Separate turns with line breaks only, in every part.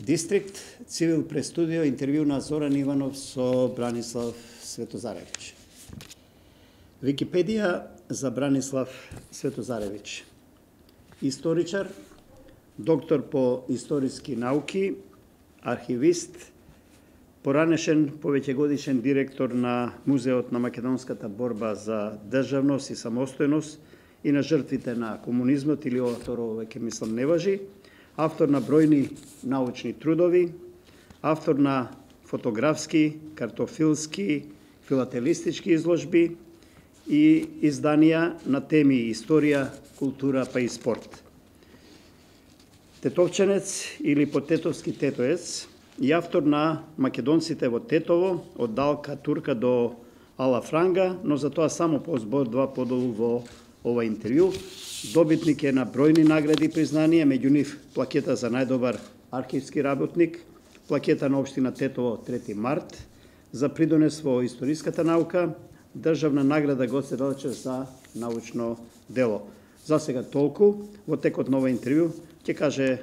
Дистрикт, Цивил прес студио, интервју на Зоран Иванов со Бранислав Светозаревиќ. Википедија за Бранислав Светозаревиќ. Историчар, доктор по историски науки, архивист, поранешен повеќегодишен директор на Музеот на македонската борба за државност и самостојност и на жртвите на комунизмот, или ова второ веќе мислам не важи, автор на бројни научни трудови, автор на фотографски, картофилски, филателистички изложби и изданија на теми историја, култура па и спорт. Тетовченец или потетовски тетоец и автор на македонците во Тетово, од Далка Турка до Ала Франга, но за тоа само по збор-два подолу во ова интервју. Добитник е на бројни награди и признанија, меѓу нив плакета за најдобар архивски работник, плакета на општина Тетово 3 март, за придонес во историската наука, државна награда Гоце Делчев за научно дело. За сега толку, во текот на ова интервју ќе каже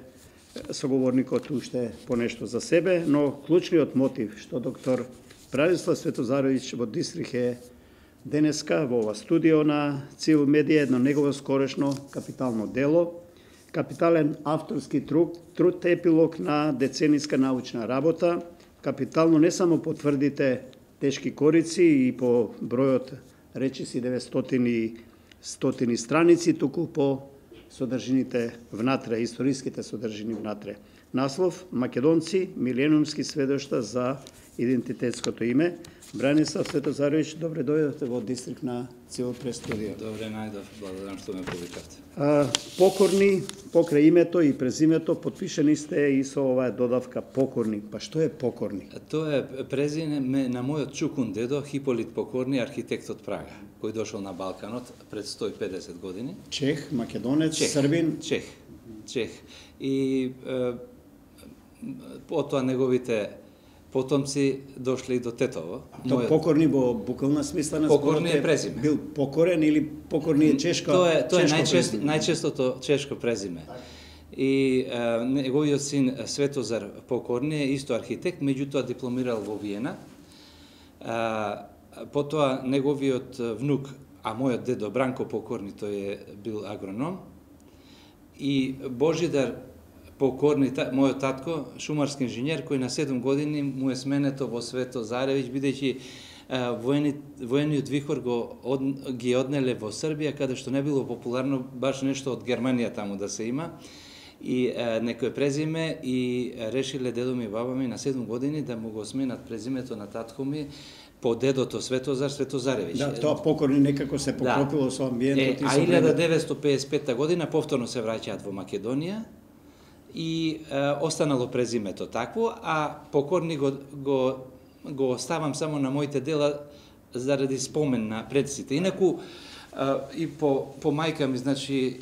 соговорникот уште понешто за себе, но клучниот мотив што доктор Бранислав Светозаревиќ во Дистрикт е денеска во ова студио на Цивил Медија, едно негово скорешно капитално дело, капитален авторски труд епилог на децениска научна работа, капитално не само по тврдите тешки корици и по бројот речиси 900 страници, туку по содржините внатре, историските содржини внатре. Наслов: Македонци, милениумски сведошта за идентитетското име. Бранислав Светозаревиќ, добре дојдовте во Дистрикт на Цивил прес студио.
Добре најдов, благодарам што ме повикавте.
Покорни, покрај името и презимето, потпишени сте и со оваа додавка покорни. Па што е покорни?
Тоа е презиме на мојот чукун дедо Хиполит Покорни, архитект од Прага, кој дошол на Балканот пред 150 години.
Чех, македонец, србин?
Чех. И потоа неговите потомци дошли до Тетово.
Покорни во буквална смисла на
покорни е презиме.
Бил покорен или покорни е чешко?
Тоа е најчестото чешко презиме. И неговиот син Светозар Покорни е исто архитект, меѓутоа дипломирал во Виена. Потоа неговиот внук, а мојот дедо Бранко Покорни, тој е бил агроном. И Божидар Покорни, мојот татко, шумарски инженер, кој на 7 години му е сменето во Светозаревиќ, бидејќи воениот вихор ги однеле во Србија, каде што не било популарно баш нешто од Германија таму да се има. И некој презиме и решиле дедо ми и баба ми на 7 години да му го сменат презимето на татко ми по дедото Светозаревиќ.
Да, тоа Покорни некако се поклопило со амбиентот и со
времето. А 1955 година повторно се враќаат во Македонија и останало презимето такво, а Покорни го оставам само на моите дела заради спомен на предците. Инаку и по мајка ми, значи,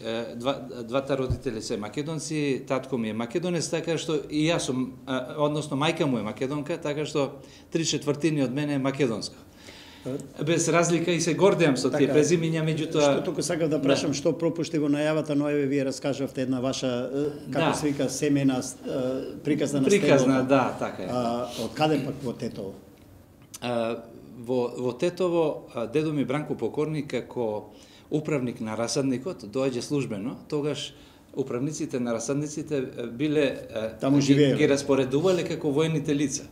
двата родители се македонци, татко ми е македонец, така што и јас сум, односно мајка му е македонка, така што 3/4 од мене е македонско. Без разлика и се гордеам со тие презимиња, меѓутоа...
Што туку сакав да прашам, што пропушти во најавата, но еве вие раскажавте една ваша, како се вика, семејна приказна на
Приказна, да, така е.
Од каде пак во Тетово?
Во Тетово, дедо ми Бранко Покорни, како управник на расадникот, доаѓа службено, тогаш управниците на расадниците биле, ги распоредувале како воените лица.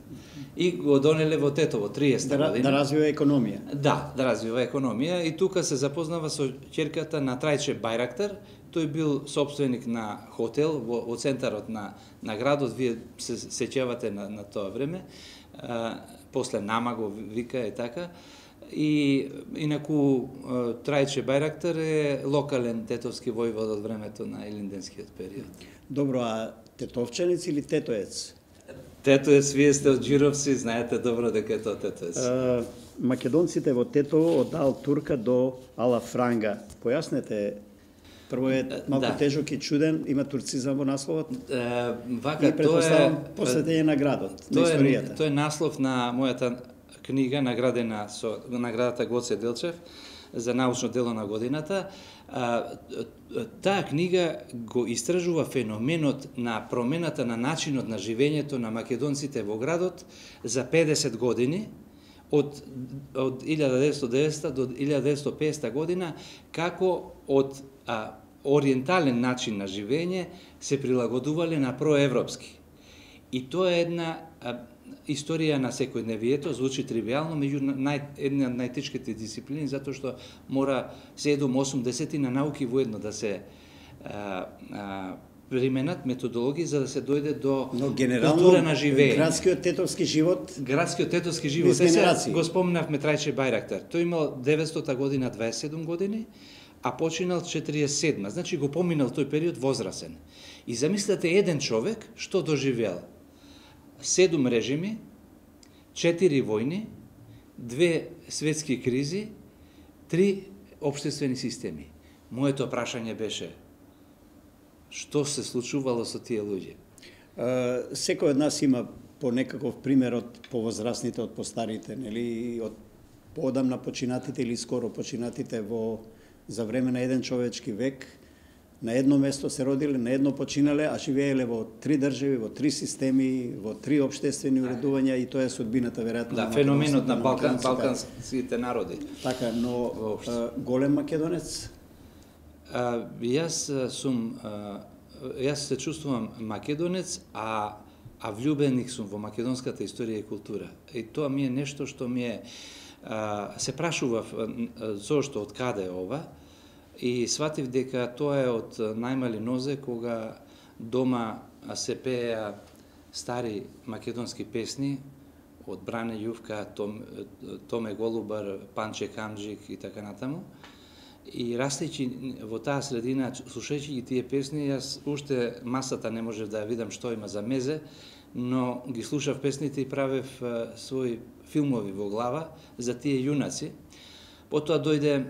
И го донеле во Тетово 30 година.
Да развива економија.
Да развива економија и тука се запознава со ќерката на Трајче Бајрактар. Тој бил собственик на хотел во центарот на градот, вие се сеќавате на тоа време. После Нама го вика е така. И инаку Трајче Бајрактар е локален тетовски војвод од времето на Илинденскиот период.
Добро, а тетовченец или тетоец?
Тетоец, вие сте од Џировци, знаете добро дека е тоа тетоец.
Македонците во Тетово од Ал Турка до Ала Франга. Појаснете, прво е малку тежок и чуден, има турцизам во насловот.
Вака,
тоа е посветење на градот, на историјата.
Тоа е наслов на мојата книга, наградена со наградата Гоце Делчев, за научно дело на годината. Таа книга го истражува феноменот на промената на начинот на живењето на македонците во градот за 50 години, од 1990 до 1950 година, како од ориентален начин на живење се прилагодувале на проевропски. И тоа е една историја на секојдневието, звучи тривијално, меѓу една од најтешките дисциплини, затоа што мора 7-8 на науки воедно да се применат методологии за да се дојде до култура на живење.
Градскиот тетовски живот.
Градскиот тетовски живот. Го спомнавме Трајче Бајрактар. Тој имал 900 година 27 години, а починал 47. Значи го поминал тој период возрасен. И замислете еден човек што доживеал 7 режими, 4 војни, 2 светски кризи, 3 општествени системи. Моето прашање беше што се случувало со тие луѓе?
Секој од нас има по некаков пример од повозрасните, од постарите, нели, од поодамна починатите или скоро починатите за време на еден човечки век, на едно место се родиле, на едно починале, а живееле во 3 држави, во 3 системи, во 3 општествени уредувања и тоа е судбината веројатно.
Да, феноменот на балканските народи.
Така, но голем македонец?
Јас се чувствувам македонец, а влюбеник сум во македонската историја и култура. И тоа ми е нешто што ми е се прашував зошто, од каде е ова, и сватив дека тоа е од најмали нозе, кога дома се пееа стари македонски песни од Бране Јувка, Томе Голубар, Панче Камџик и така натаму. И растејќи во таа средина, слушајќи ги тие песни, јас уште масата не можев да ја видам што има за мезе, но ги слушав песните и правев своји филмови во глава за тие јунаци. Потоа дојде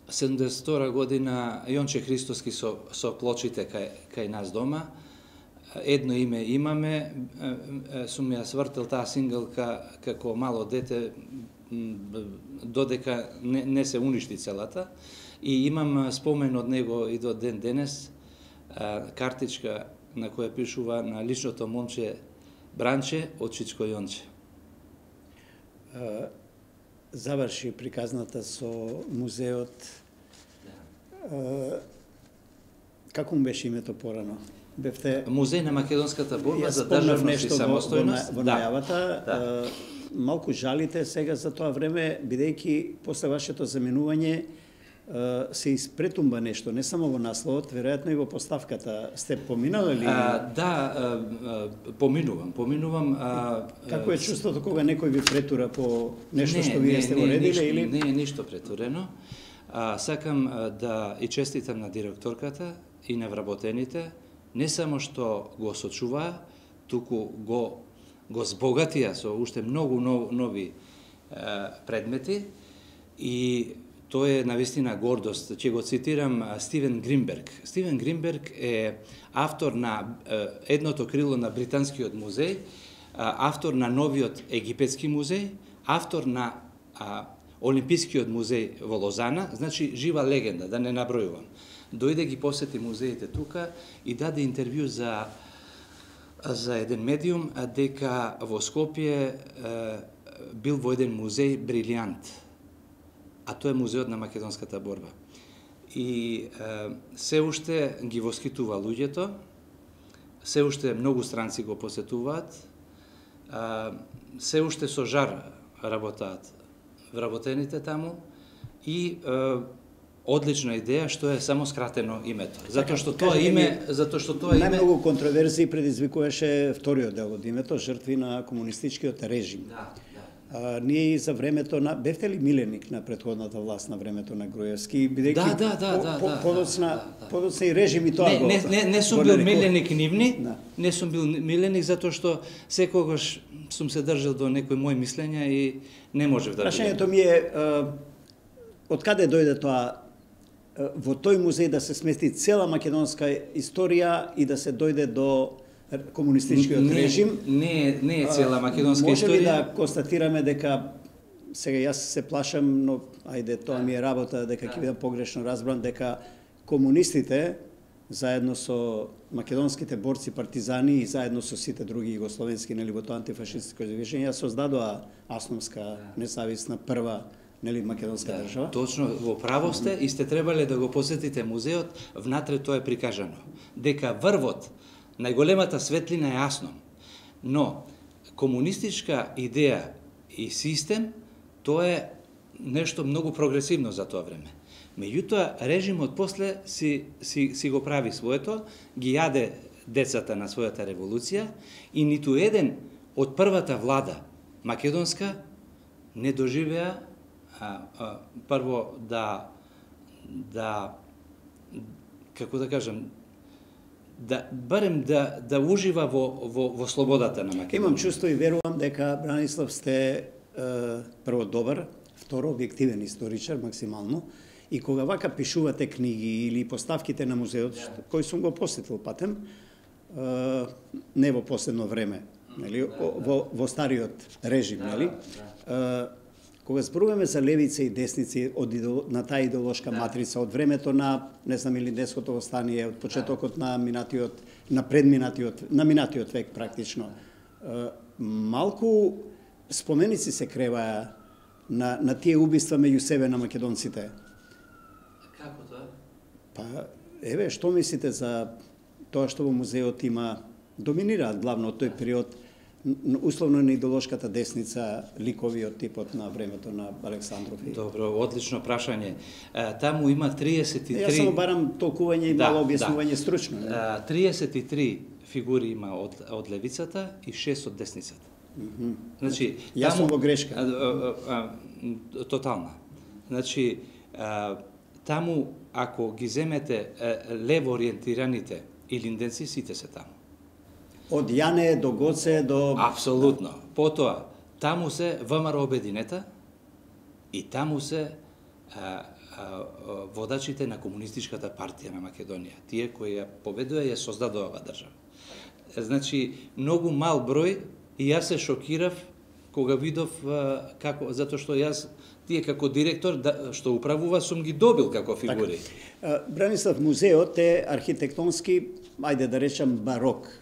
72 година Јонче Христоски со плочите кај нас дома. Едно име имаме, сум ја свртел таа сингалка како мало дете, додека не се уништи целата. И имам спомен од него и до ден денес, картичка на која пишува на личното момче Бранче од Чичко Јонче.
Заврши приказната со музеот. Како му беше името порано? Бевте
Музеј на македонската борба за државност и самостојност.
Во најавата. Малку жалите сега за тоа време, бидејќи после вашето заменување се испретумба нешто, не само во насловот, веројатно и во поставката. Сте поминали ли?
Да, поминувам.
Како е чувството кога некој ви претура по нешто што вие сте уредиле или?
Не е ништо претурено. Сакам да и честитам на директорката и на вработените, не само што го сочуваа, туку го збогатија со уште многу нови предмети и тоа е навистина гордост. Ќе го цитирам Стивен Гринберг. Стивен Гринберг е автор на едното крило на Британскиот музеј, автор на новиот Египетски музеј, автор на Олимпискиот музеј во Лозана, значи жива легенда, да не набројувам. Дојде ги посети музеите тука и даде интервју за еден медиум дека во Скопје бил во еден музеј брилјант, а тоа е музеот на македонската борба. И се уште ги воскитува луѓето, се уште многу странци го посетуваат, се уште со жар работаат вработените таму и одлична идеја што е само скратено името. Затоа што тоа име,
најмногу контроверзии предизвикуваше вториот дел од името, жртви на комунистичкиот режим. Ние и за времето на бевте ли миленик на претходната власт на времето на Груевски, бидејќи подоцна и режим и тоа го.
Не сум бил миленик нивни, не сум бил миленик затоа што секогаш сум се држал до некои мои мислења и не можев да.
Прашањето ми е од каде дојде тоа во тој музеј да се смести цела македонска историја и да се дојде до комунистичкиот режим?
Не е цела македонска историја.
Може ли да констатираме дека сега јас се плашам, но ајде тоа ми е работа дека ќе бидам погрешно разбран дека комунистите заедно со македонските борци партизани и заедно со сите други југословенски во тоа антифашистско движење создадоа Асновска независна прва македонска држава.
Точно, во право сте и сте требале да го посетите музеот, внатре тоа е прикажано. Дека врвот, најголемата светлина е Аснон. Но, комунистичка идеја и систем, тоа е нешто многу прогресивно за тоа време. Меѓутоа, режимот после си го прави своето, ги јаде децата на својата револуција и ниту еден од првата влада македонска не доживеа прво да како да кажам, барем да ужива во слободата на Македонија.
Имам чувство и верувам дека Бранислав сте прво добар, второ објективен историчар максимално, и кога вака пишувате книги или поставките на музеот, кој сум го посетил патем, не во последно време, нели, во стариот режим, нели, кога зборуваме за левица и десници на таа идеолошка матрица од времето на, не знам, или Деското востание, од почетокот на минатиот век практично, малку споменици се креваа на тие убиства меѓу себе на македонците.
Како тоа?
Па, еве, што мислите за тоа што во музеот има, доминираат главно од тој период, условно на идеолошката десница, ликови од типот на времето на Александров?
Добро, одлично прашање. Таму има 33...
Јас само барам толкување и мало објаснување стручно.
33 фигури има од левицата и 6 од десницата. Значи,
јас сум во грешка.
Тотална. Значи, таму, ако ги земете лево ориентираните илинденци, сите се таму.
Од Јане до Гоце до...
Апсолутно. Потоа, таму се ВМРО обединета и таму се водачите на Комунистичката партија на Македонија. Тие кои ја победува ја создадува оваа држава. Значи, многу мал број и јас се шокирав кога видов како, затоа што јас тие како директор што управува сум ги добил како фигури.
Бранислав, музеот е архитектонски, ајде да речам барок.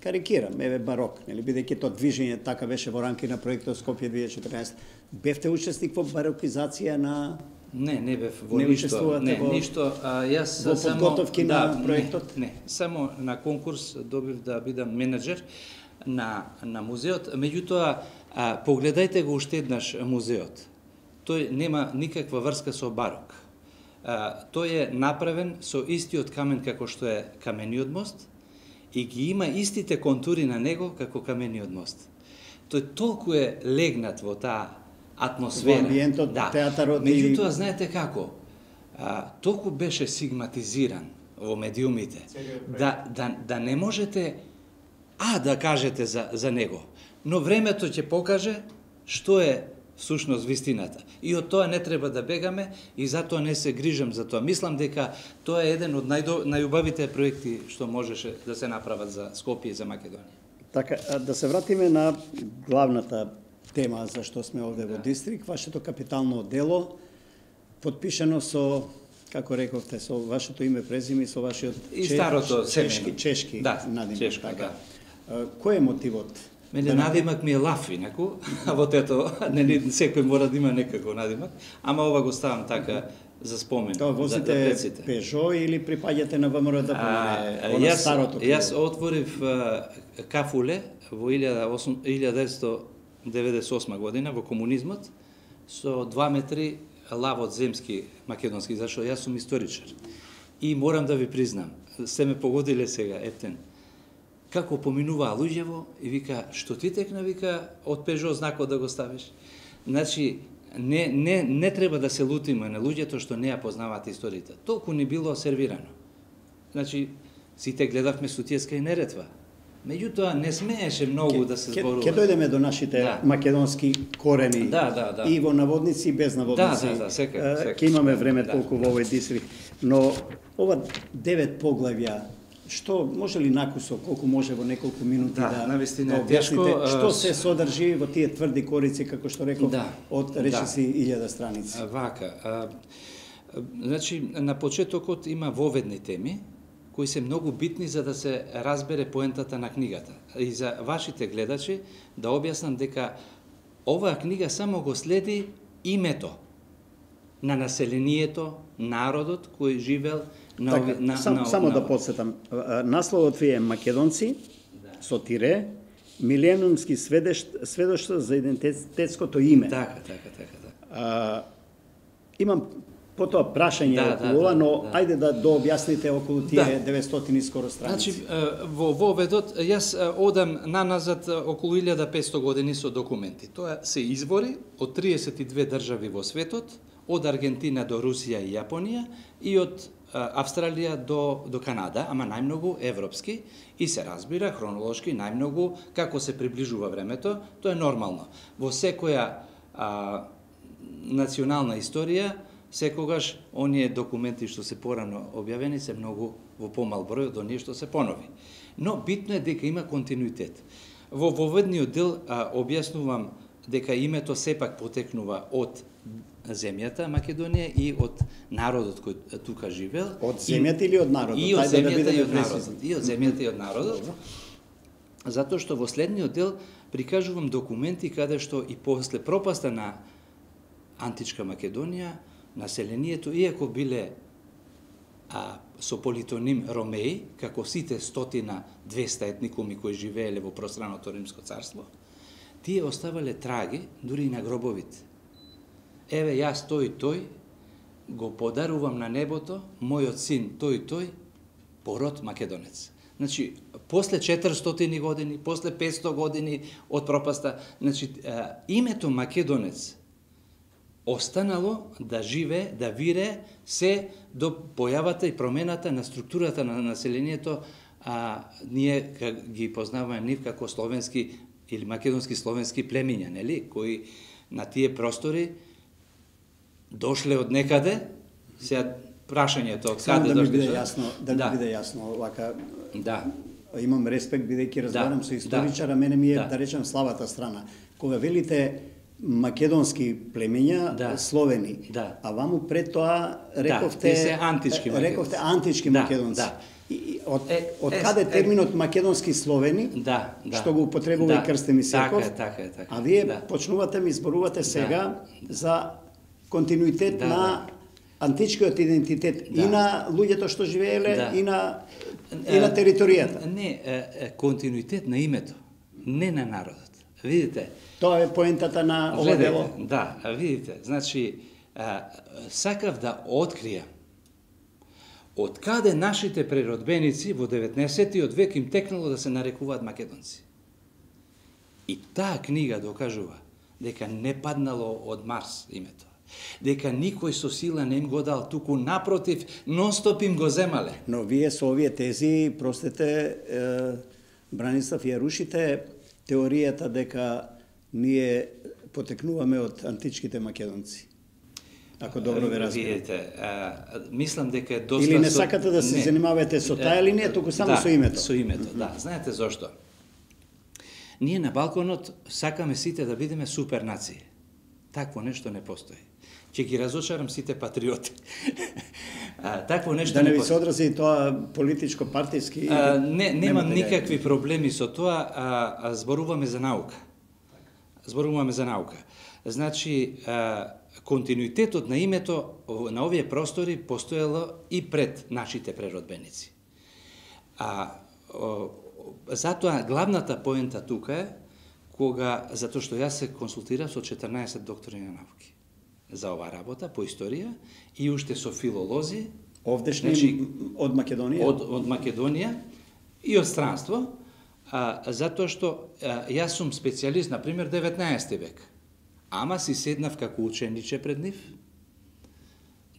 Карикирам, еве барок, нели, бидејќи тоа движење така беше во рамки на проектот Скопје 2014. Бевте учесник во барокизација на...
Не бев во ништо. Не, ништо. Јас
во подготовки на проектот?
Не, само на конкурс добив да бидам менеджер на музеот. Меѓутоа, погледајте го уште еднаш музеот. Тој нема никаква врска со барок. Тој е направен со истиот камен како што е камениот мост и ги има истите контури на него како камениот мост. Тој толку е легнат во таа атмосфера.
Во амбиентот, театарот.
Меѓутоа, знаете како? Толку беше сигматизиран во медиумите да не можете да кажете за него. Но времето ќе покаже што е всушност вистината. И од тоа не треба да бегаме и затоа не се грижам за тоа. Мислам дека тоа е еден од најубавите проекти што можеше да се направат за Скопје и за Македонија.
Така, да се вратиме на главната тема за што сме овде во Дистрикт, вашето капитално дело, подпишано со, како рековте, со вашето име, презиме и со вашиот чешки надимак.
Чешка,
така. Кој е мотивот?
Мене надимак ми е Лав, инаку, во тето, секој мора да има некако надимак, ама ова го ставам така за спомен.
Тоа возите Пежо или припаѓате на ВМРО да помине старото?
Јас отворив кафуле во 1998 година во комунизмот со 2 метри лавот земски македонски, зашто јас сум историчар. И морам да ви признам, се ме погодиле сега, ептен, како поминуваа луѓево и вика, што ти текна, вика, од Пежо знакот да го ставиш. Значи, не треба да се лутиме на луѓето што не ја познаваат историјата. Толку ни било сервирано. Значи, сите гледавме Сутиеска и Неретва. Меѓутоа, не смееше многу да се зборува.
Ке дојдеме до нашите македонски корени.
Да.
И во наводници и без наводници.
Да, секако.
Ке имаме време толку во овој Дистрикт. Но ова 9 поглавја Што може ли накусо, колку може во неколку минути
навистина
да објасните
тешко,
што се содржи во тие тврди корици, како што реков, од речиси 1000 страници?
Вака, значи на почетокот има воведни теми кои се многу битни за да се разбере поентата на книгата. И за вашите гледачи да објаснам дека оваа книга само го следи името на населението, народот кој живел на
само да подсетам. Насловот ви е Македонци со тире, миленумски сведоштва за идентитетското име.
Така.
Имам потоа прашање околу ова, но ајде да дообјасните околу тие 900 и скоро страници.
Значи, во воведот, јас одам наназад околу 1500 години со документи. Тоа се извори од 32 држави во светот, од Аргентина до Русија и Јапонија и од Австралија до Канада, ама најмногу европски, и се разбира хронолошки најмногу како се приближува времето, тоа е нормално. Во секоја национална историја, секогаш оние документи што се порано објавени се многу во помал број од оние што се понови. Но битно е дека има континуитет. Во воведниот дел објаснувам дека името сепак потекнува од земјата Македонија и од народот кој тука живел.
Од земјата или од народот?
И од земјата и од народот. И од земјата и од народот. Затоа што во следниот дел прикажувам документи каде што и после пропаста на античка Македонија, населението, иако биле со политоним Ромеи, како сите 100-200 етникуми кои живееле во пространото Римско царство, тие оставале траги дури и на гробовите. Еве јас тој го подарувам на небото, мојот син тој пород македонец. Значи, после 400 години, после 500 години од пропаста, значи, името македонец останало да живе, да вире се до појавата и промената на структурата на населението, ние ги познаваме нив како словенски или македонски словенски племиња, нели, кои на тие простори дошле од некаде, сега прашањето од каде дошле.
Да ми биде јасно, вака.
Да.
Имам респект бидејќи разговарам со историчара, мене ми е да речем слабата страна. Кога велите македонски племиња, словени, а ваму пред тоа рековте антички македонци. Од каде терминот македонски словени, што го употребува и Крстен Исаков, а вие почнувате ми зборувате сега за континуитет на античкиот идентитет и на луѓето што живееле и на територијата.
Не, континуитет на името, не на народот. Видите?
Тоа е поентата на ова дело.
Да, видите, значи сакав да откријам од каде нашите преродбеници во 19-тиот век им текнало да се нарекуваат македонци. И таа книга докажува дека не паднало од Марс името. Дека никој со сила не им го дал, туку напротив, нон-стоп им го земале.
Но вие со овие тези, простете, Бранислав, ја рушите теоријата дека ние потекнуваме од античките македонци. Ако добро ве разбирам.
Видите, мислам дека е доста...
Или не сакате да се занимавате со таа линија, туку само со името?
Со името, да. Знаете зошто? Ние на Балканот сакаме сите да бидеме супер нации. Такво нешто не постои. Ќе ги разочарам сите патриоти. Такво нешто
не постои. Да не ви се одрази тоа политичко, партиски?
Немам никакви проблеми со тоа, зборуваме за наука. Зборуваме за наука. Значи, континуитетот на името на овие простори постоело и пред нашите преродбеници. Затоа главната поента тука е затоа што јас се консултирав со 14 доктори на науки за оваа работа по историја и уште со филолози,
овдешни од Македонија,
од Македонија и од странство, затоа што јас сум специјалист, на пример, 19 век. Ама си седнав како учениче пред нив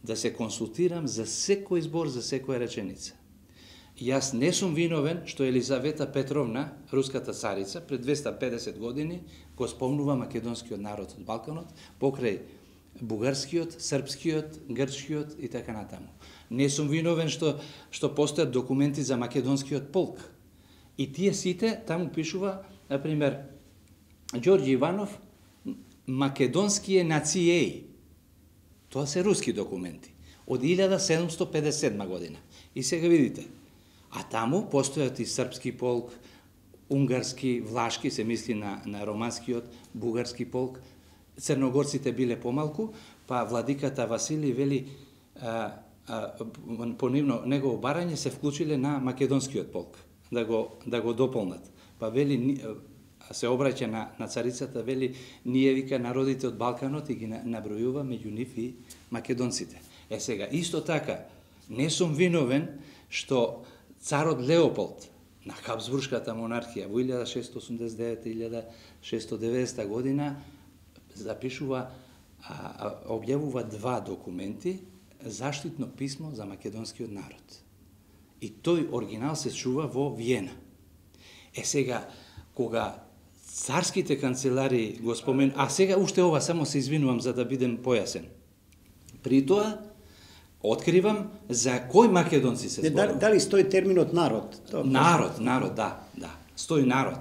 да се консултирам за секој збор, за секоја реченица. Јас не сум виновен што Елизавета Петровна, руската царица, пред 250 години го спомнува македонскиот народ од Балканот покрај бугарскиот, српскиот, грчкиот и така натаму. Не сум виновен што постојат документи за македонскиот полк. И тие сите таму пишува, например, Ѓорѓе Иванов, македонские нацијеи. Тоа се руски документи од 1757 година. И сега видите, а таму постојат и српски полк, унгарски, влашки, се мисли на романскиот, бугарски полк. Црногорците биле помалку, па владиката Василий вели по негово барање се вклучиле на македонскиот полк да го дополнат. Па вели се обраќа на царицата, вели ние вика народите од Балканот и ги набројува меѓу нив и македонците. Сега исто така не сум виновен што царот Леополд на Хабсбуршката монархија во 1689-1690 година запишува, објавува два документи, заштитно писмо за македонскиот народ. И тој оригинал се чува во Виена. Сега, кога царските канцелари го спомен, а сега уште ова, само се извинувам за да бидем појасен. При тоа, откривам за кој македонци се зборува.
Дали стои терминот народ?
Народ, да. Стои народ.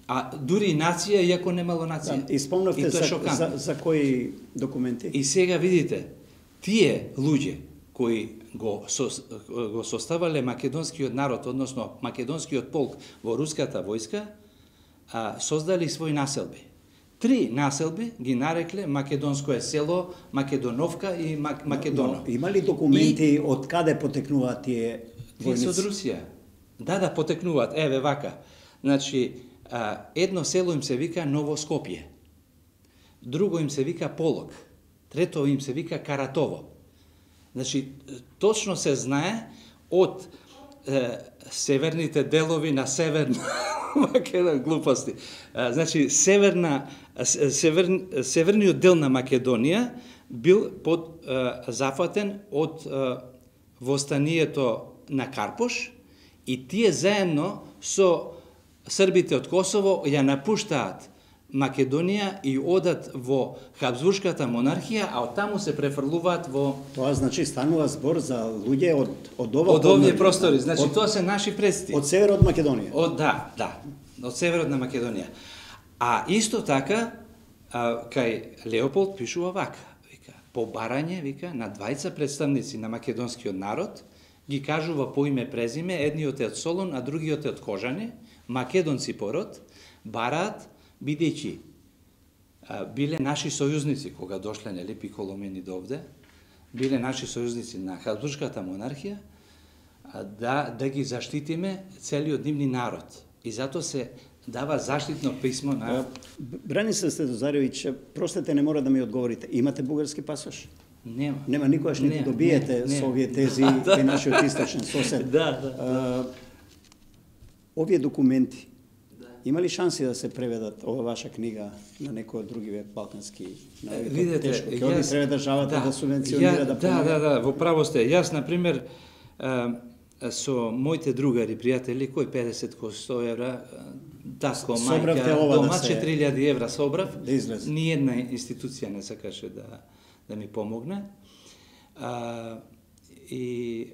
А дури и нација, иако немало нација.
И спомнавте за кои документи?
И сега видите, тие луѓе кои го составале македонскиот народ, односно македонскиот полк во руската војска, создали своји населби. 3 населби ги нарекле Македонско е село, Македоновка и Македоно.
Има ли документи од каде потекнуваат тие војници?
Тие од Русија. Да, потекнуваат. Еве вака. Значи, едно село им се вика Ново Скопје. Друго им се вика Полог. Трето им се вика Каратово. Значи, точно се знае од северните делови на северна Македонија, глупости. Значи, северниот дел на Македонија бил зафатен од востанието на Карпош и тие заедно со србите од Косово ја напуштаат Македонија и одат во Хабсбуршката монархија, а оттаму се префрлуваат во...
Тоа значи станува збор за луѓе од
овие простори. Значи тоа се наши предци.
Од северот Македонија.
Да, од северот на Македонија. А исто така кај Леополд пишува вака, вика, по барање, вика, на двајца представници на македонскиот народ, ги кажува по име презиме, едниот е од Солун, а другиот е од Кожани, македонци пород, бараат, бидејќи биле наши сојузници кога дошле нели Пиколомени довде, биле наши сојузници на Хабсбуршката монархија, да ги заштитиме целиот нивни народ. И затоа се дава заштитно писмо на...
Бранислав Стефозаревич, простете, не мора да ми одговорите. Имате бугарски пасош?
Нема.
Нема, никогаш не добиете со овие тези кај нашиот источен сосед.
Да.
Овие документи, има ли шанси да се преведат ова ваша книга на некој од другиве балкански народи?
Видете,
ќе оди треба државата да субвенционира, да помага?
Да, во право сте. Јас, например, со моите другари, пријатели, кој 50, кој 100 евра, татко, мајка, дома 4000 евра собрав, ни една институција не сакаше да ми помогне. И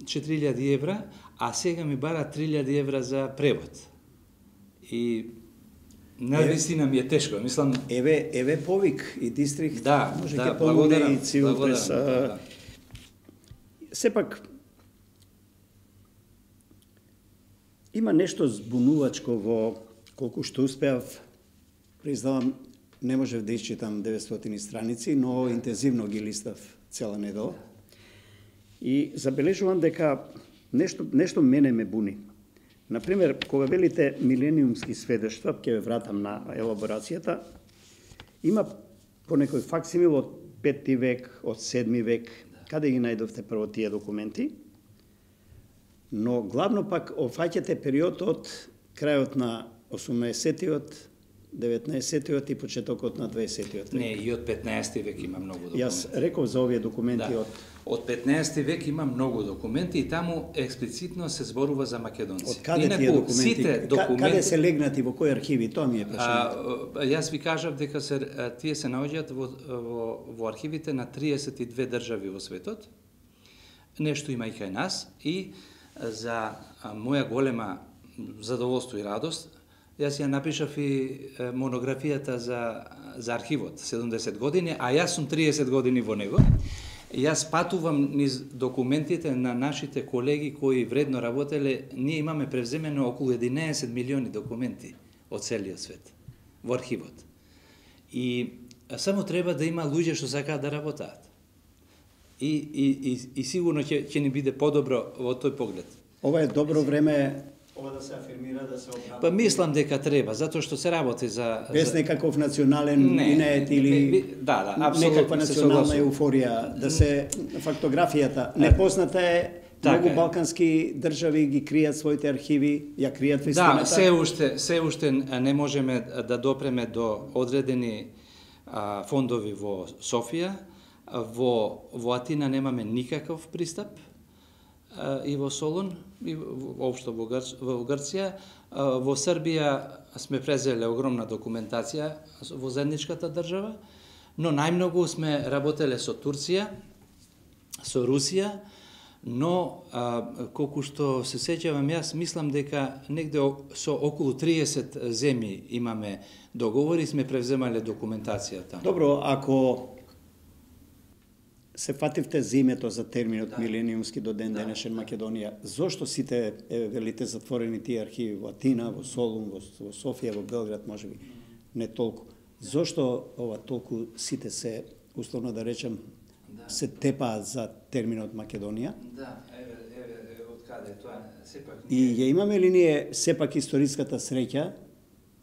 4000 евра, а сега ми бара 3000 евра за превод. И навистина ми е тешко, мислам...
Еве повик и дистрикт, може ќе
помогне
и цивил прес. Сепак, има нешто збунувачко во колку што успеав, признавам, не можев да исчитам 900 страници, но интензивно ги листав цела недела. И забележувам дека нешто мене ме буни. Например, кога велите милениумски сведоштва, ќе ве вратам на елаборацијата, има понекој факсимил од 5 век, од 7 век, каде ги најдовте прво тие документи, но главно пак офаќате период од крајот на 18-тиот, 19-тиот и почетокот на 20-тиот век.
Не, и од 15 век има многу документи.
Јас реков за овие документи од
Од 15 век има многу документи и таму експлицитно се зборува за македонци.
Од каде тие документи? Каде се легнати, во кои архиви? Тоа ми е прашањето.
Јас ви кажав дека тие се наоѓаат во архивите на 32 држави во светот. Нешто има и кај нас и за моја голема задоволство и радост, јас ја напишав и монографијата за архивот 70 години, а јас сум 30 години во него. Јас патувам низ документите на нашите колеги кои вредно работеле. Ние имаме превземено околу 11 милиони документи од целиот свет во архивот. И само треба да има луѓе што сакаат да работат. И сигурно ќе ни биде подобро во тој поглед.
Ова е добро време ова да се афирмира, да се обработи.
Па мислам дека треба, затоа што се работи
без некаков национален инет или некаква национална еуфорија, да се фактографијата. Непозната е, многу балкански држави ги кријат своите архиви, ја кријат вистината.
Да, се уште не можеме да допреме до одредени фондови во Софија, во Атина немаме никаков пристап, и во Солун, и воопшто во Грција. Во Србија сме презеле огромна документација во заедничката држава, но најмногу сме работеле со Турција, со Русија, но колку што се сеќавам јас, мислам дека негде со околу 30 земји имаме договори, сме превземале документација таму.
Добро, ако се фативте за името за терминот милениумски до ден денешен Македонија, зошто сите, велите, затворени тие архиви во Атина, во Солун, во Софија, во Белград, можеби не толку. Зошто ова толку сите се, условно да речем, се тепаат за терминот Македонија?
Да, од каде тоа сепак.
И ја имаме ли ние сепак историската среќа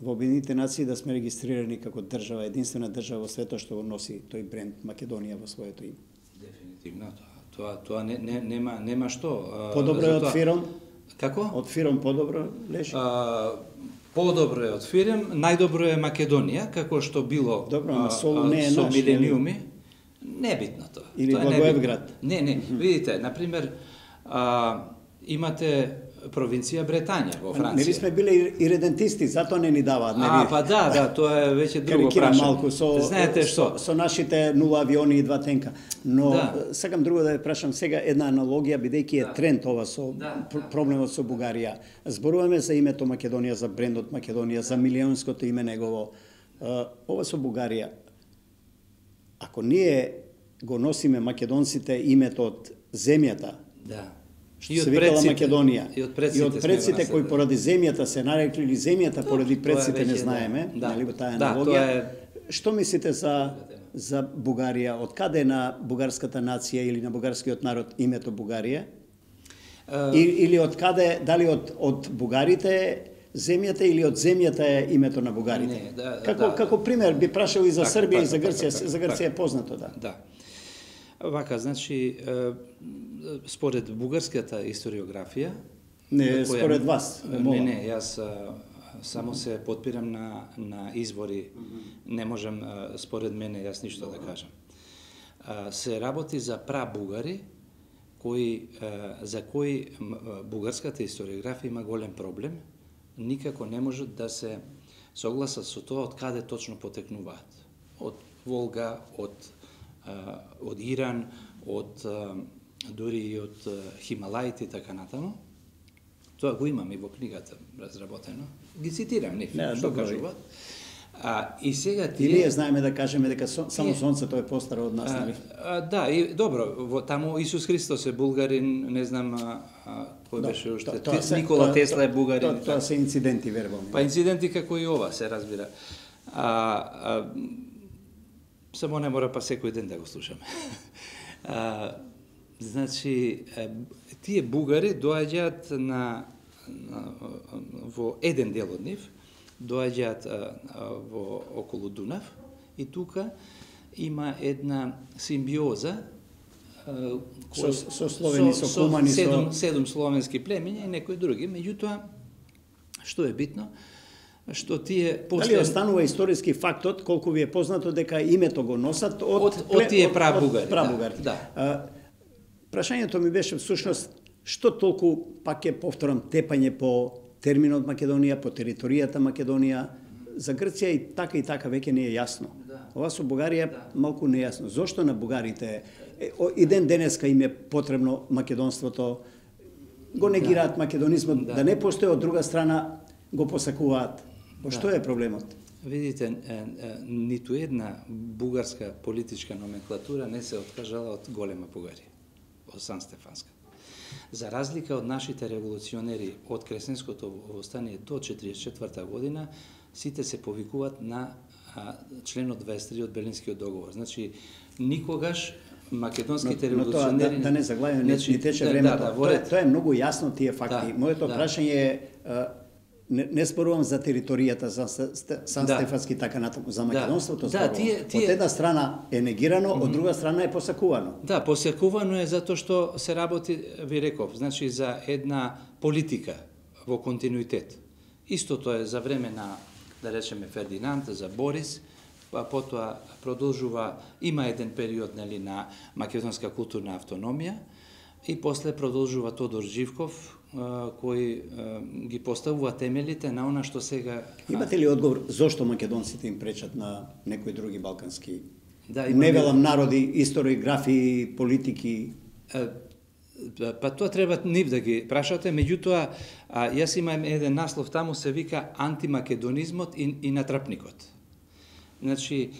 во Обединетите нации да сме регистрирани како држава, единствена држава во светот што го носи тој бренд Македонија во своето име?
Дефинитивно, тоа нема што.
Подобро е од Фиром?
Како?
Од Фиром подобро лежи?
Подобро е од Фирем, најдобро е Македонија, како што било
Солун не е
со
наш,
милениуми. Небитно тоа.
Или Благоевград?
Не, видите, например, имате провинција Бретања во Франција.
Нели сме биле иредентисти, затоа не ни даваат, нели?
Па да, тоа е веќе друго прашање.
Малку
знаете што?
Со нашите 0 авиони и 2 тенка. Но сакам друго да ја прашам сега една аналогија, бидејќи е тренд ова со проблемот со Бугарија. Зборуваме за името Македонија, за брендот Македонија, за милионското име негово. Ова со Бугарија. Ако ние го носиме македонците името од земјата, што се викала Македонија, и од предците кои поради земјата се нарекли, или земјата поради предците не знаеме, нели таа аналогија. Што мислите за Бугарија? Од каде е на бугарската нација или на бугарскиот народ името Бугарија? Или од каде, дали од бугарите земјата или од земјата е името на бугарите? Како пример би прашал и за Србија и за Грција, за Грција е познато, да.
Вака, значи, според бугарската историографија...
Не, според вас.
Не, јас само се подпирам на извори, не можам, според мене, јас ништо да кажам. Се работи за прабугари, за кои бугарската историографија има голем проблем, никако не можат да се согласат со тоа од каде точно потекнуваат. Од Волга, од Иран, дури и од Хималаите и така натаму. Тоа го имам и во книгата разработено. Ги цитирам нив, што кажуваат. И сега тие...
И ние знаеме да кажеме дека само сонцето е постаро од нас, нели?
Да, и добро, таму Исус Христос е булгарин, не знам кој беше уште. Никола Тесла е бугарин.
Тоа се инциденти, вербални.
Па инциденти како и ова, се разбира. Само не мора па секој ден да го слушаме. Значи, тие бугари доаѓаат во еден дел од нив, доаѓаат во околу Дунав и тука има една симбиоза
со словени, со кумани,
седум словенски племиња и некои други. Меѓутоа, што е битно, што тие
Дали останува историски фактот, колку ви е познато дека името го носат од
тие прабугари.
Да. Прашањето ми беше всушност што толку, пак ќе повторам, тепање по терминот Македонија, по територијата Македонија. За Грција и така веќе не е јасно. Ова со Бугарија малку нејасно. Зошто на бугарите и ден денеска им е потребно македонството, го негираат македонизмот, да не постои, од друга страна го посакуваат. Што е проблемот?
Видите, ниту една бугарска политичка номенклатура не се откажала од голема Бугарија, од Сан Стефанска. За разлика од нашите револуционери од Кресненското востание до 1944 година, сите се повикуваат на членот 23 од Берлинскиот договор. Значи, никогаш македонските револуционери...
Да не заглавиме, не тече времето. Тоа е многу јасно тие факти. Моето прашање е, не спорувам за територијата, за Сан Стефански така натаму, за македонството спорувам. Од една страна е негирано, од друга страна е посакувано.
Да, посакувано е затоа што се работи, ви реков, значи за една политика во континуитет. Истото е за време на, да речеме, Фердинанд, за Борис, па потоа продолжува, има еден период на македонска културна автономија и после продолжува Тодор Живков, кој ги поставува темелите на она што сега...
Имате ли одговор зошто македонците им пречат на некои други балкански... Не велам народи, историографии, политики...
Па тоа треба нив да ги прашате, меѓутоа, јас имам еден наслов таму, се вика антимакедонизмот и натрапникот. Значи,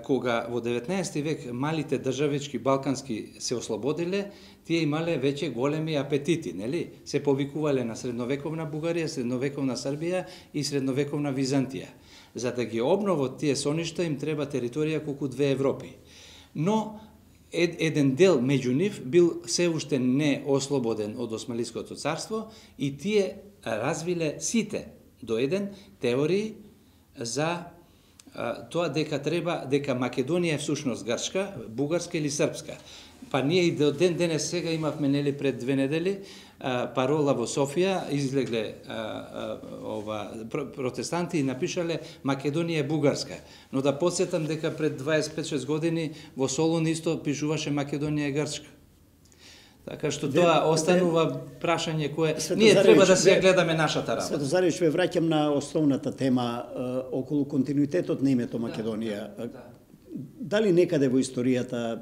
кога во 19 век малите државички балкански се ослободиле, тие имале веќе големи апетити, нели? Се повикувале на средновековна Бугарија, средновековна Србија и средновековна Византија. За да ги обноват тие соништа им треба територија колку 2 Европи. Но еден дел меѓу нив бил се уште не ослободен од Османлиското царство и тие развиле сите до еден теории за тоа дека Македонија е всушност грчка, бугарска или српска. Па ние и до ден денес сега имавме нели пред 2 недели парола во Софија, излегле протестанти и напишале Македонија е бугарска. Но да подсетам дека пред 25-6 години во Солун исто пишуваше Македонија е грчка. Така што тоа останува прашање кое ние треба да се гледаме нашата работа.
Светозаревич, ве враќам на основната тема околу континуитетот на името Македонија. Дали некаде во историјата,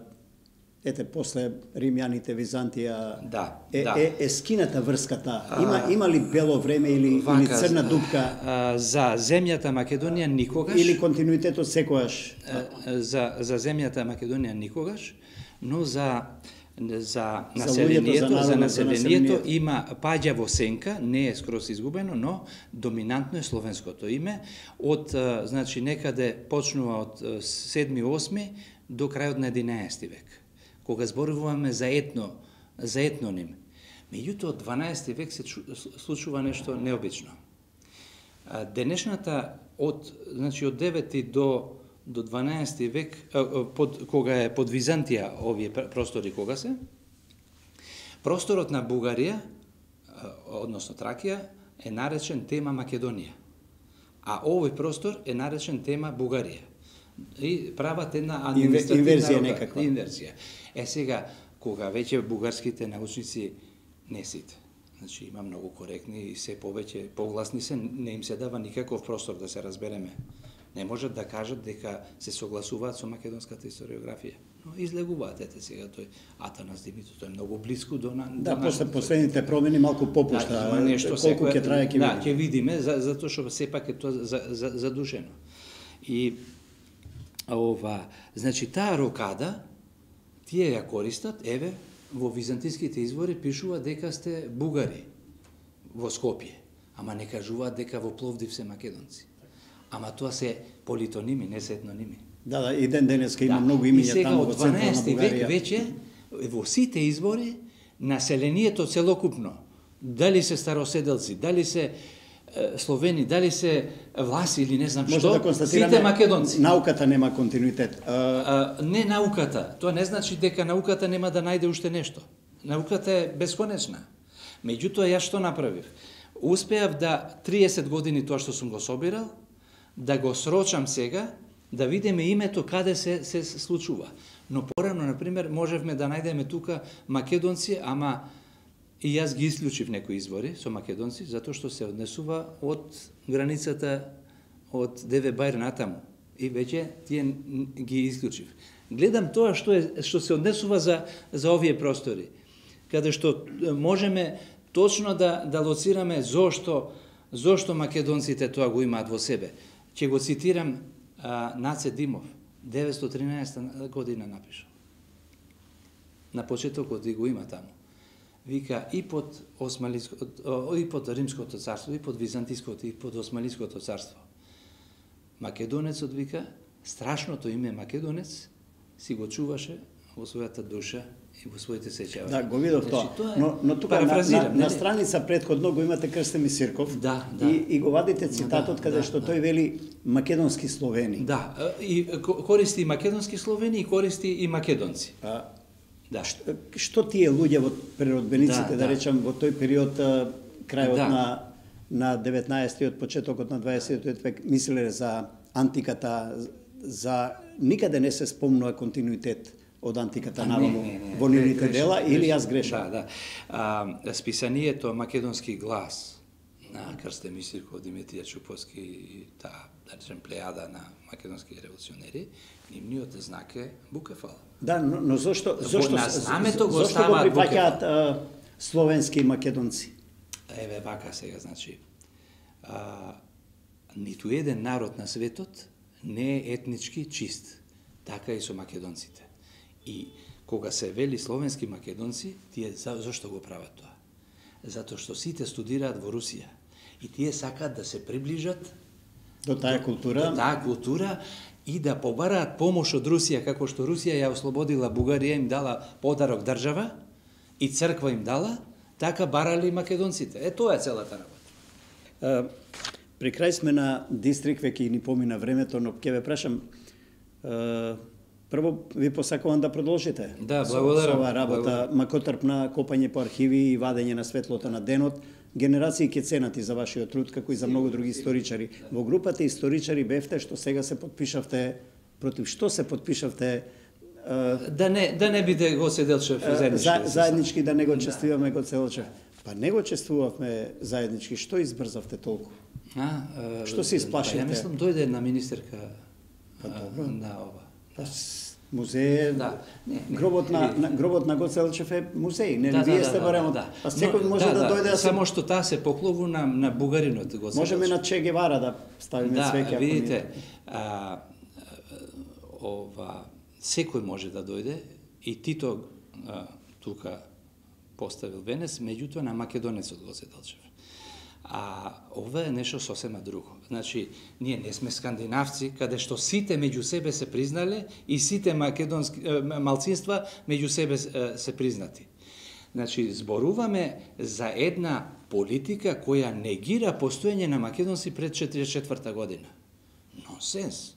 ете, после римјаните, Византија, е скината врската? Има ли бело време или црна дупка?
За земјата Македонија никогаш.
Или континуитетот секогаш?
За земјата Македонија никогаш, но за населението има паѓа во сенка, не е скроз изгубено, но доминантно е словенското име. Од, значи, некаде почнува од 7-8 до крајот на 11 век, кога зборуваме за етноним. Меѓутоа, од 12 век се случува нешто необично. Денешната, значи, од 9 до 12 век, кога е под Византија овие простори, кога се, просторот на Бугарија, односно Тракија, е наречен тема Македонија. А овој простор е наречен тема Бугарија. И прават една административна инверзија. Сега, кога веќе бугарските научници, не сите, значи има многу коректни и се повеќе погласни се, не им се дава никаков простор да се разбереме. Не можат да кажат дека се согласуваат со македонската историографија. Но излегуваат, ете сега тој Атанас Димитров, тој е многу близко до
после последните промени малку попушта, колку ќе трае ќе видиме.
Да, ќе видиме, затоа што сепак е тоа задушено. И значи таа рокада, тие ја користат, еве, во византиските извори пишува дека сте бугари во Скопје, ама не кажуваат дека во Пловдив се македонци. Ама тоа се политоними, не се етноними.
Да, и ден денеска има многу имиња таму во централна Бугарија.
И сега од 12 век веќе во сите избори населението целокупно, дали се староседелци, дали се словени, дали се власи или не знам што, сите македонци.
Науката нема континуитет.
Не науката, тоа не значи дека науката нема да најде уште нешто. Науката е бесконечна. Меѓутоа, јас што направив? Успеав да 30 години тоа што сум го собирал, да го срочам сега, да видиме името каде се случува. Но порано, например, можевме да најдеме тука македонци, ама и јас ги исклучив некои избори со македонци, затоа што се однесува од границата од Деве Бајр натаму. И веќе тие ги исклучив. Гледам тоа што се однесува за овие простори, каде што можеме точно да лоцираме зошто македонците тоа го имаат во себе. Ќе го цитирам Наце Димов, 913 година напишал. На почетокот и го има таму. Вика и под Римското царство, и под Византиското, и под Османлиското царство. Македонецот, вика, страшното име Македонец си го чуваше во својата душа и во своите сеќавања.
Да, го видов тоа. Но тука на страница предходно го имате Крстен Мисирков.
Да.
И го вадите цитатот каде што тој вели македонски словени.
Да, и користи и македонски словени и користи и македонци. Да.
Што тие луѓе во преродбениците, да речам, во тој период, крајот на 19-тиот, почетокот на 20-тиот век, мислеле за антиката, за никаде не се спомнува континуитет од антиката наваму во нивните дела, или јас грешам?
Да. Списанието Македонски глас на Крстен Мисирков, Димитрија Чуповски и таа, да речем, плејада на македонски револуционери, нивниот знак е Букефал.
Да, но зошто го
прифаќаат
словенски македонци?
Еве вака сега, значи, ниту еден народ на светот не е етнички чист, така и со македонците. И кога се вели словенски македонци, тие зашто го прават тоа? Затоа што сите студираат во Русија и тие сакаат да се приближат
до таа
култура и да побараат помош од Русија, како што Русија ја ослободила Бугарија, им дала подарок држава и црква им дала, така барали македонците. Тоа е целата работа.
При крај сме на Дистрикт, веќе ни помина времето, но ќе ве прашам, прво ви посакувам да продолжите.
Да, благодарам.
Со оваа работа, макотрпна копање по архиви и вадење на светлото на денот. Генерации ќе ценат и за вашиот труд, како и за многу други историчари. Во групата историчари бевте што сега се подпишавте, против што се подпишавте?
Да не биде Гоце Делчев заеднички.
Заеднички да не го чествуваме Гоце Делчев. Па не го чествувавме заеднички, што избрзавте толку? Што се исплашите?
Ја мислам дојде една министерка на ова.
Музеј, гробот на Гоце Делчев е музеј, нели вие сте барем. Па секој може да дојде.
Само што таа се поклоvu на бугаринот Гоце Делчев.
Можеме на Че Гевара да ставиме цвеќе.
Да, видите, секој може да дојде и Тито тука поставил венец, меѓутоа на македонецот Гоце Делчев. Ова е нешто сосема друго. Значи, ние не сме скандинавци, каде што сите меѓу себе се признале и сите македонски малцинства меѓу себе се признати. Значи, зборуваме за една политика која негира постоење на македонци пред 44 година. Нонсенс.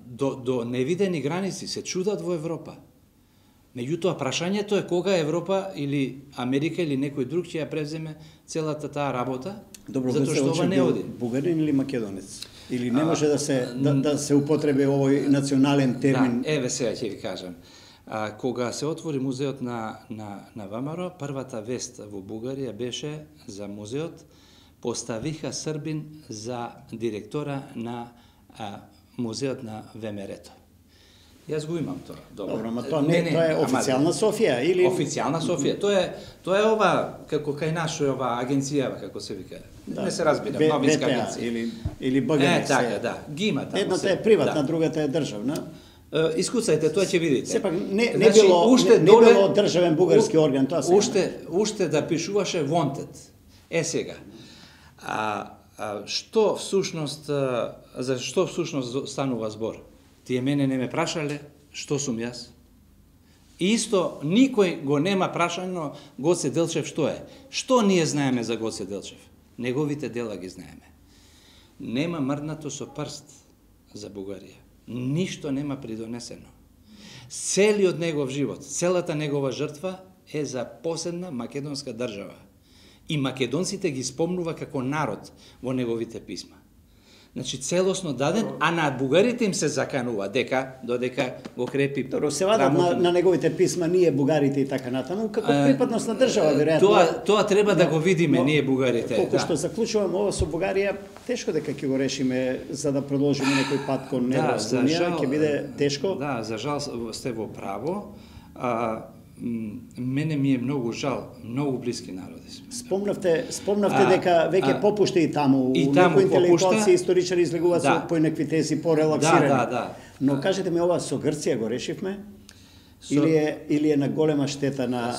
До невидени граници се чудат во Европа. Меѓутоа, прашањето е кога Европа или Америка или некој друг ќе ја превземе целата таа работа, затоа што ова не оди.
Бугарин или македонец? Или не може да се употреби овој национален термин?
Да, еве сега ќе ви кажам. Кога се отвори музеот на ВМРО, првата вест во Бугарија беше за музеот, поставиха Србин за директора на музеот на ВМРО-то. Јас го имам тоа.
Добро, ама тоа е официјална Софија или
официјална Софија. Тоа е ова како кај наша ова агенција, како се вика. Не се разбира, новинска агенција
или БГН.
Така, да. Ги има таму.
Едната е приватна, другата е државна.
Искуцајте, тоа ќе видите.
Сепак не било државен бугарски орган, тоа се.
Уште да пишуваше wanted. Сега. Што всушност за што всушност станува збор? Тие мене не ме прашале што сум јас. Исто никој го нема прашано Гоце Делчев што е. Што ние знаеме за Гоце Делчев? Неговите дела ги знаеме. Нема мрднато со прст за Бугарија. Ништо нема придонесено. Целиот негов живот, целата негова жртва е за посебна македонска држава. И македонците ги спомнува како народ во неговите писма. Значи целосно даден, а на бугарите им се заканува додека го крепи.
Добро, се вадат на неговите писма ние бугарите и така натаму, како припадност на држава, веројатно.
Тоа треба да го видиме ние бугарите.
Колку што заклучувам ова со Бугарија, тешко дека ќе го решиме за да продолжиме некој пат кон Евроунија, ќе биде тешко.
Да, за жал сте во право. Мене ми е многу жал, многу блиски народи сме.
Спомнавте дека веќе попушта и таму, некои интелектуалци и историчари излегуваат со поинакви тези порелаксирани.
Да.
Но кажете ми, ова со Грција го решивме? Или е на голема штета на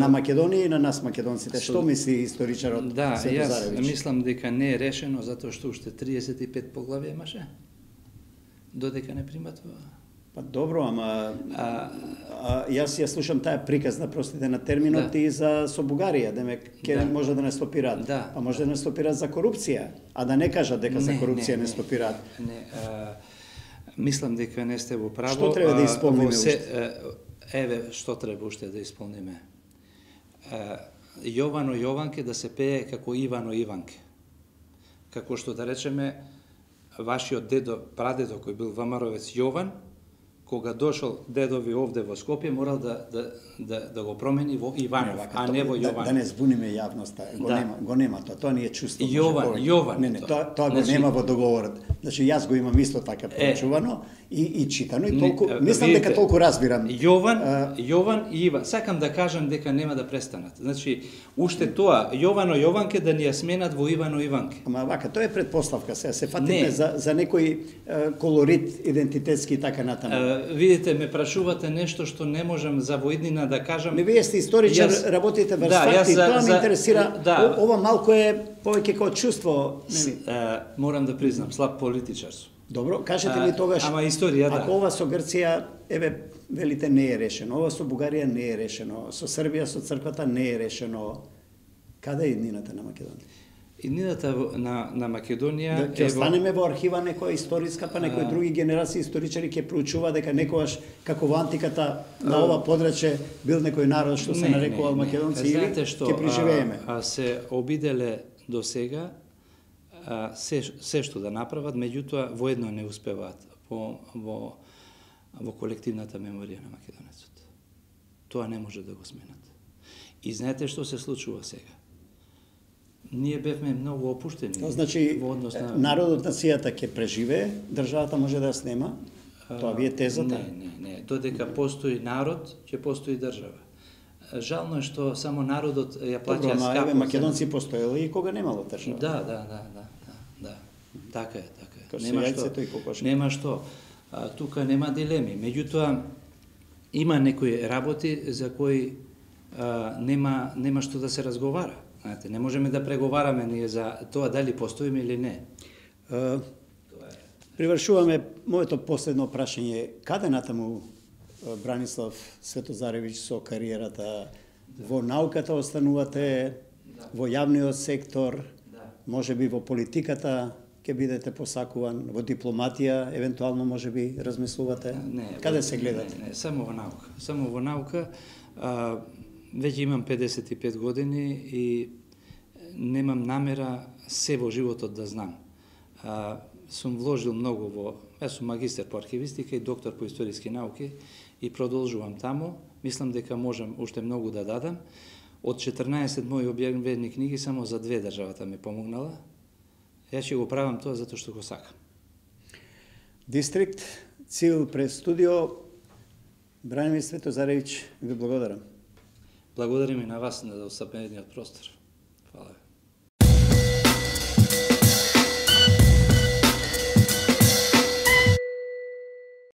Македонија и на нас македонците? Што мисли историчарот Светозаревиќ?
Јас мислам дека не е решено затоа што уште 35 поглавја имаше. Додека не приматува.
Па добро, ама јас ја слушам таа приказна, простите на терминот, и со Бугарија, демек ќе може да не стопираат. Па може да не стопираат за корупција, а да не кажат дека за корупција не стопираат.
Мислам дека не сте во право.
Што треба да исполниме уште?
Еве, што треба уште да исполниме. Јовано Јованке да се пее како Ивано Иванке. Како што да речеме, вашиот дедо, прадедо кој бил ВМРО-вец Јован, кога дошол дедови овде во Скопје, морал да го промени во Иванов, а не во Јован.
Да не збуниме јавноста, го нема тоа не е чувство.
Јован.
Не, тоа го нема во договорот. Значи јас го имам исто така прочувано и читано и толку, мислам дека толку разбирам.
Јован и Иван. Сакам да кажам дека нема да престанат. Значи, уште тоа, Јовано Јованке да ни ја сменат во Ивано Иванке.
Ама вака, тоа е предпоставка, сега се фатиме за некој колорит идентитетски и така натаму.
Видите, ме прашувате нешто што не можам за воиднина да кажам.
Не, вие сте историчар, работите врз факти, тоа ме интересира. Ова малку е повеќе како чувство.
Морам да признам, слаб политичар сум.
Добро, кажете ми тогаш,
ама историја,
ако ова со Грција, велите не е решено, ова со Бугарија не е решено, со Србија, со црквата не е решено, каде е иднината на Македонија?
Иднината на Македонија
ќе останеме во архива некоја историска, па некои други генерации историчари ќе проучува дека некогаш како во антиката на ова подрачје бил некој народ што се нарекувал македонци, или ќе преживееме.
Се обиделе до сега се што да направат, меѓутоа воедно не успеваат во колективната меморија на македонецот. Тоа не може да го сменат. И знаете што се случува сега? Ние бевме многу опуштени.
Значи, народот, нацијата ќе преживее, државата може да ја снема? Тоа ви е тезата?
Не. Додека постои народ, ќе постои држава. Жално е што само народот ја плаќа скапо.
Добро, македонци постоело и кога немало држава.
Да. Така е.
Нема
што. Тука нема дилеми. Меѓутоа, има некои работи за кои нема што да се разговара. Знаете, не можеме да преговараме ние за тоа дали постоиме или не.
Привршуваме моето последно прашање. Каде натаму Бранислав Светозаревиќ со кариерата? Во науката останувате, во јавниот сектор, може би во политиката ќе бидете посакуван, во дипломатија, евентуално може би размислувате? Каде се гледате?
Не, само во наука. Веќе имам 55 години и немам намера се во животот да знам. Сум вложил многу јас сум магистер по архивистика и доктор по историски науки и продолжувам таму. Мислам дека можам уште многу да дадам. Од 14 мои објавени книги само за 2 државата ме помогнала. Јас ќе го правам тоа затоа што го сакам.
Дистрикт Цил пред студио. Бранимир Светозаревиќ, ви благодарам.
Благодарим и на вас на оставениот простор. Фала.